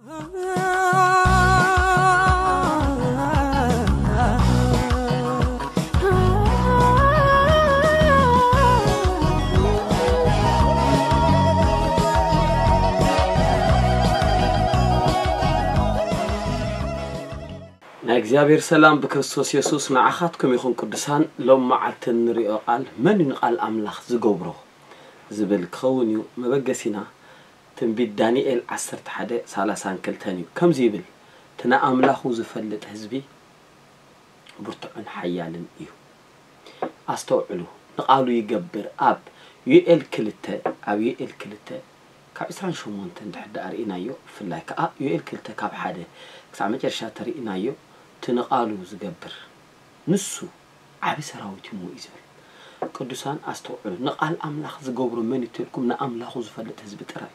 ናይ እግዚኣብሔር ሰላም ብክርስቶስ የሱስ ንዓኻትኩም ይኹን። ቅዱሳን፣ ሎም መዓልቲ እንሪኦ ቃል፣ መን እዩ ንቃል ኣምላኽ ዝገብሮ ዝብል ክኸውን እዩ መበገሲና። ትንቢት ዳንኤል ዓሰርተ ሓደ ሰላሳን ክልተን እዩ። ከምዚ ይብል፣ እቲ ንኣምላኹ ዝፈልጥ ህዝቢ ብርቱዕን ሓያልን እዩ። ኣስተውዕሉ፣ ንቃሉ ይገብር። ኣብ ዩኤል ክልተ፣ ኣብ ዩኤል ክልተ ካብ ዕስራን ሸሞንተን ድሕር ደኣ ርኢናዮ፣ ብፍላይ ከኣ ዩኤል ክልተ ካብ ሓደ ክሳዕ መጨረሻ ተርኢናዮ፣ እቲ ንቃሉ ዝገብር ንሱ ዓቢ ሰራዊት እዩ እሞ እዩ ዝብል። ቅዱሳን ኣስተውዕሉ፣ ንቃል ኣምላኽ ዝገብሮ መን እዩ ተልኩም? ንኣምላኹ ዝፈልጥ ህዝቢ ጥራይ።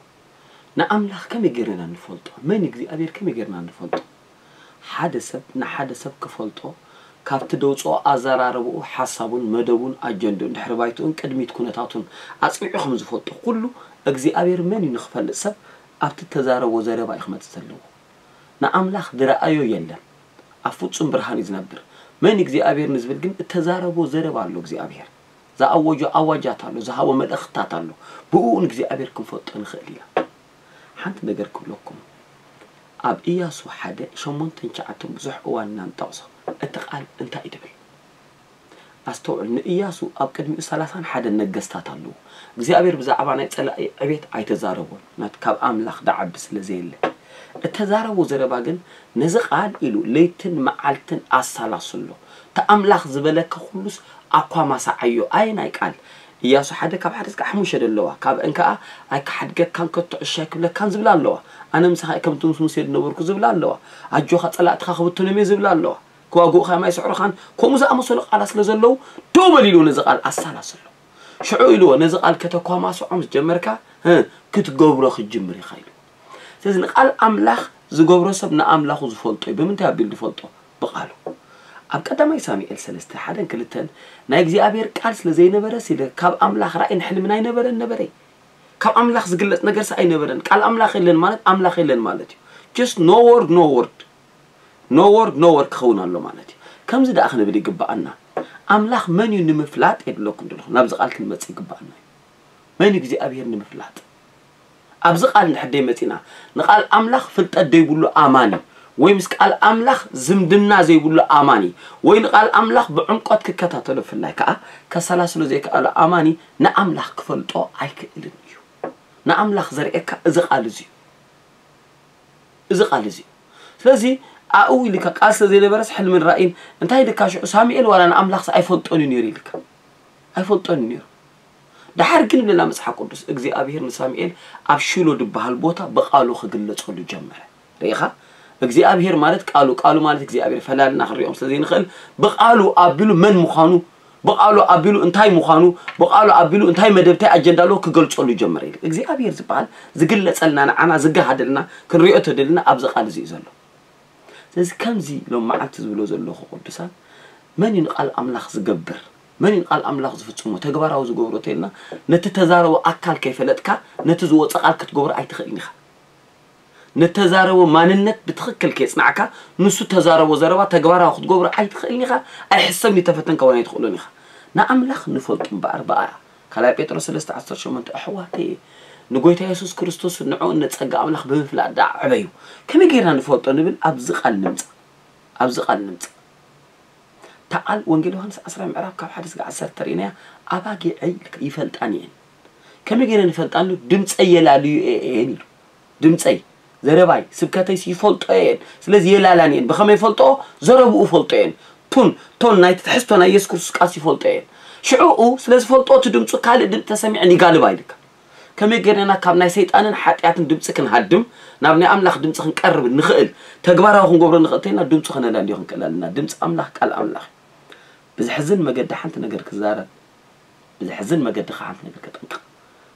ንኣምላኽ ከመይ ጌርና ንፈልጦ? መን እግዚኣብሔር ከመይ ጌርና ንፈልጦ? ሓደ ሰብ ንሓደ ሰብ ክፈልጦ ካብቲ ደውፅኦ ኣዘራርብኡ፣ ሓሳቡን መደቡን ኣጀንድኡን ድሕሪ ባይትኡን ቅድሚት ኩነታቱን ኣፅኒዑ ከም ዝፈልጦ ኩሉ፣ እግዚኣብሔር መን እዩ ንክፈልጥ ሰብ ኣብቲ ተዛረቦ ዘረባ እዩ ክመፅእ ዘለዎ። ንኣምላኽ ዝረኣዮ የለን። ኣብ ፍጹም ብርሃን እዩ ዝነብር። መን እግዚኣብሔር ንዝብል ግን እተዛረቦ ዘረባ ኣሎ። እግዚኣብሔር ዝኣወጆ ኣዋጃት ኣሎ፣ ዝሃቦ መልእኽትታት ኣሎ። ብእኡ ንእግዚኣብሔር ክንፈልጦ ንኽእል ኢና። ሓንቲ ነገር ክብለኩም፣ ኣብ ኢያሱ ሓደ ሸሞንተን ትሽዓተን ብዙሕ እዋን ኢና ንጠቕሶ። እቲ ቃል እንታይ እዩ ድብል? ኣስተውዕል፣ ንኢያሱ ኣብ ቅድሚኡ ሰላሳን ሓደን ነገስታት ኣለዉ። እግዚኣብሔር ብዛዕባ ናይ ጸላኢ ዕቤት ኣይተዛረቦን፣ ናት ካብ ኣምላኽ ደዓቢ ስለ ዘየለ። እተዛረቦ ዘረባ ግን ነዚ ቃል ኢሉ ለይትን መዓልትን ኣሳላስሎ። እቲ ኣምላኽ ዝበለካ ኩሉስ ኣኳማሳዓዮ። ኣየናይ ቃል? ኢያሱ ሓደ ካብ ሓደ እስካዕ ሓሙሽተ ደለዋ። ካብ እንከኣ ኣይክሓድገካን ከቶ ዕሻ ኣይክብለካን ዝብላ ኣለዋ። ኣነ ምሳኻ እየ ከምቲ ምስ ሙሴ ዝነበርኩ ዝብላ ኣለዋ። ኣጆኻ ጸላእትኻ ክብትኖም እየ ዝብላ ኣለዋ። ክዋግኡኻ ማይ ስዕሩኻን ከምኡ ዝኣመሰሉ ቃላት ስለ ዘለዉ ደው በል ኢልዎ ነዚ ቃል ኣሳላስሎ። ሽዑ ኢልዎ ነዚ ቃል ከተኳማስዖ ምስ ጀመርካ እ፣ ክትገብሮ ክትጅምር ኢኻ ኢልዎ። ስለዚ ንቃል ኣምላኽ ዝገብሮ ሰብ ንኣምላኹ ዝፈልጦ እዩ። ብምንታይ ኣቢሉ ዝፈልጦ? ብቃሉ። ኣብ ቀዳማይ ሳሙኤል ሰለስተ ሓደን ክልተን ናይ እግዚኣብሔር ቃል ስለ ዘይነበረ ሲለ ካብ ኣምላኽ ራእይን ሕልምን ኣይነበረን ነበረ። ካብ ኣምላኽ ዝግለጽ ነገርስ ኣይነበረን። ቃል ኣምላኽ የለን ማለት ኣምላኽ የለን ማለት እዩ። Just no word, no word. No word, no word ክኸውን ኣሎ ማለት እዩ። ከምዚ ደኣ ክንብል ይግብኣና። ኣምላኽ መን እዩ ንምፍላጥ የድለኩም ዘለኹ። ናብዚ ቃል ክንመጽእ ይግብኣና እዩ። መን እዩ እግዚኣብሔር ንምፍላጥ? ኣብዚ ቃል እንድሕር ደይመጺና፣ ንቃል ኣምላኽ ፍልጠት ዘይብሉ ኣማኒ፣ ወይ ምስ ቃል ኣምላኽ ዝምድና ዘይብሉ ኣማኒ፣ ወይ ንቃል ኣምላኽ ብዕምቆት ክከታተሎ ብፍላይ ከኣ ከሰላስሎ ዘይከኣሎ ኣማኒ ንኣምላኽ ክፈልጦ ኣይክእልን እዩ። ንኣምላኽ ዘርእየካ እዚ ቃል እዚ እዩ። እዚ ቃል እዚ እዩ። ስለዚ ኣብኡ ኢልካ ቃል ስለ ዘይነበረስ ሕልምን ራእይን እንታይ ኢልካ ሽዑ ሳሙኤል ዋላ ንኣምላኽስ ኣይፈልጦን እዩ ነይሩ ኢልካ። ኣይፈልጦን እዩ ነይሩ። ደሓር ግን ብለና መጽሓፍ ቅዱስ እግዚኣብሔር ንሳሙኤል ኣብ ሺሎ ዝበሃል ቦታ ብቃሉ ክግለጸሉ ጀመረ። ርኢኻ? እግዚኣብሔር ማለት ቃሉ፣ ቃሉ ማለት እግዚኣብሔር ፈላልና ክንሪኦም ስለ ዘይንኽእል ብቃሉ ኣቢሉ መን ምዃኑ፣ ብቃሉ ኣቢሉ እንታይ ምዃኑ፣ ብቃሉ ኣቢሉ እንታይ መደብ እንታይ ኣጀንዳ ኣለዎ ክገልጸሉ ይጀምር ኢሉ። እግዚኣብሔር ዝበሃል ዝግለጸልና ንዓና ዝገሃደልና ክንሪኦ ተደልና ኣብዚ ቃል እዚ እዩ ዘሎ። ስለዚ ከምዚ ሎም መዓልቲ ዝብሎ ዘለኹ ቅዱሳን መን እዩ ንቃል ኣምላኽ ዝገብር? መን እዩ ንቃል ኣምላኽ ዝፍጽሞ? ተግባራዊ ዝገብሮ ተልና ነቲ ተዛረቦ ኣካል ከይፈለጥካ ነቲ ዝወፀ ቃል ክትገብሮ ኣይትኽእልን ኢኻ። ነተዛረቦ ማንነት ብትኽክል ከየጽናዕካ ንሱ ተዛረቦ ዘረባ ተግባራዊ ክትገብሮ ኣይትኽእልን ኢኻ፣ ኣይሕሰብን እዩ ተፈተንካ እውን ኣይትኽእሎን ኢኻ። ንኣምላኽ ንፈልጡ እምበኣር ብኣ ካልኣይ ጴጥሮስ ሰለስተ ዓሰርተ ሸሞንተ ኣሕዋተየ ንጎይታ የሱስ ክርስቶስ ንዕኡ ንጸጋ ኣምላኽ ብምፍላጥ ደኣ ዕበዩ። ከመይ ጌርና ንፈልጦ ንብል ኣብዚ ቃል ንምጻእ። ኣብዚ ቃል ንምጻእ። እታ ቃል ወንጌል ዮሃንስ ዓስራ ምዕራፍ ካብ ሓደ ስጋዕ ዓሰርተ ርኢናያ ኣባጊዐይ ይፈልጣን እየን። ከመይ ገይረን ይፈልጣን ኢሉ ድምፀይ የላልዩ እየን ኢሉ። ድምፀይ ዘረባይ ስብከተይስ ይፈልጦ እየን። ስለዚ የላላን እየን። ብኸመይ ይፈልጦ? ዘረብኡ ፈልጦ እየን። ቱን ቶን ናይቲ ትሕዝቶ ናይ የሱስ ክርስቶስ ቃልስ ይፈልጦ እየን። ሽዑኡ ስለ ዝፈልጦ እቲ ድምፁ ካልእ ድምፂ ተሰሚዐን ይጋልባ ኢልካ። ከመይ ገይርና ካብ ናይ ሰይጣንን ሓጢኣትን ድምፂ ክንሃድም ናብ ናይ ኣምላኽ ድምፂ ክንቀርብ ንኽእል ተግባራዊ ክንገብሮ ንኽእል ተይና ድምፁ ከነላልዮ ክንክእል ኣለና። ድምፂ ኣምላኽ ቃል ኣምላኽ እዩ። ብዝሕዝን መገዲ ሓንቲ ነገር ክዛረብ ብዝሕዝን መገዲ ከዓ ሓንቲ ነገር ከጠንቅቕ።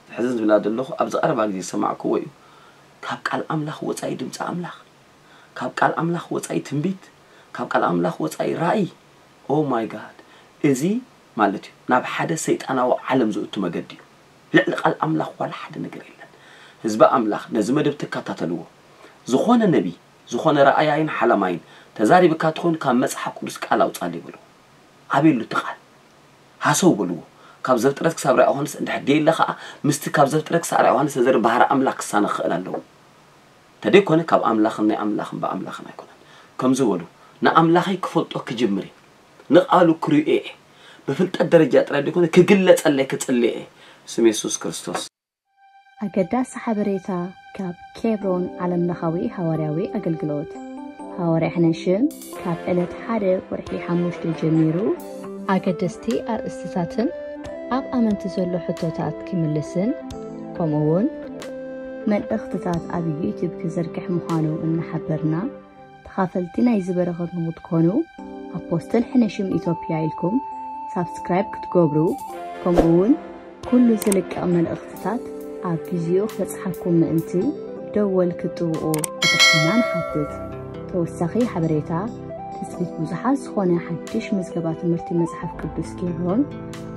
ዝሕዝን ዝብላ ዘለኹ ኣብዚ ቀረባ ግዜ ዝሰማዕክዎ እዩ። ካብ ቃል ኣምላኽ ወፃኢ ድምፂ ኣምላኽ፣ ካብ ቃል ኣምላኽ ወፃኢ ትንቢት፣ ካብ ቃል ኣምላኽ ወፃኢ ራእይ። Oh my God፣ እዚ ማለት እዩ ናብ ሓደ ሰይጣናዊ ዓለም ዝእቱ መገዲ እዩ። ልዕሊ ቃል ኣምላኽ ዋላ ሓደ ነገር የለን። ህዝቢ ኣምላኽ ነዚ መደብ ትከታተልዎ ዝኾነ ነቢ፣ ዝኾነ ረኣያይን ሓላማይን ተዛሪብካ ትኾን ካብ መጽሓፍ ቅዱስ ቃል ኣውጻል ይበሉ። ኣቤሉ እቲ ቃል ሃሰው በልዎ። ካብ ዘፍጥረት ክሳብ ራእይ ዮሃንስ እንድሕር ደየለ ኸዓ ምስቲ ካብ ዘፍጥረት ክሳብ ራእይ ዮሃንስ ተዘሪ ባህሪ ኣምላኽ ክሳነ ክኽእል ኣለዎ። ተደይኮነ ካብ ኣምላኽን ናይ ኣምላኽን ብኣምላኽን ኣይኮነን። ከምዚ በሉ፣ ንኣምላኸይ ክፈልጦ ክጅምር እየ። ንቓሉ ክርእዮ እየ። ብፍልጠት ደረጃ ጥራይ ደይኮነ ክግለጸለይ ክጽልየ እየ። ስም የሱስ ክርስቶስ። ኣገዳሲ ሓበሬታ ካብ ኬብሮን ዓለምለኻዊ ሃዋርያዊ ኣገልግሎት። ሃዋርያ ሕነሽም ካብ ዕለት ሓደ ወርሒ ሓሙሽተ ጀሚሩ ኣገደስቲ ኣርእስትታትን ኣብ ኣመንቲ ዘሎ ሕቶታት ክምልስን ከምኡ እውን መልእኽትታት ኣብ ዩቲዩብ ክዝርግሕ ምዃኑ እናሓበርና ተኻፈልቲ ናይዚ በረኸት ንክትኮኑ ኣፖስትል ሕነሽም ኢትዮጵያ ኢልኩም ሳብስክራይብ ክትገብሩ ከምኡ እውን ኩሉ ዝልቀቕ መልእኽትታት ኣብ ግዚኡ ክበጽሓኩም ምእንቲ ደወል ክትጥውቑ ብትሕትና ንሓትት። ተወሳኺ ሓበሬታ ትጽቢት ብዙሓት ዝኾነ ሓድሽ ምዝገባ ትምህርቲ መጽሓፍ ቅዱስ ኬብሮን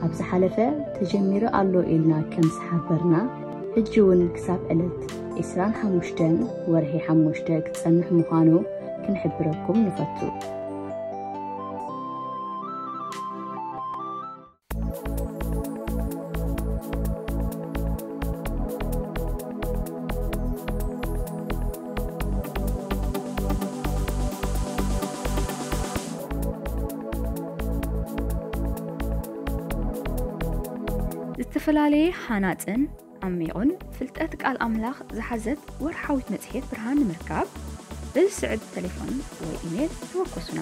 ኣብ ዝሓለፈ ተጀሚሩ ኣሎ ኢልና ከም ዝሓበርና ሕጂ እውን ክሳብ ዕለት ዕስራን ሓሙሽተን ወርሒ ሓሙሽተ ክጸንሕ ምዃኑ ክንሕብረኩም ንፈቱ። ዝተፈላለየ ሃናጽን ዓሚቑን ፍልጠት ቃል ኣምላኽ ዝሓዘት ወርሓዊት መጽሔት ብርሃን ንምርካብ በዚ ስዕብ ተሌፎን ወይ ኢሜል ተወከሱና።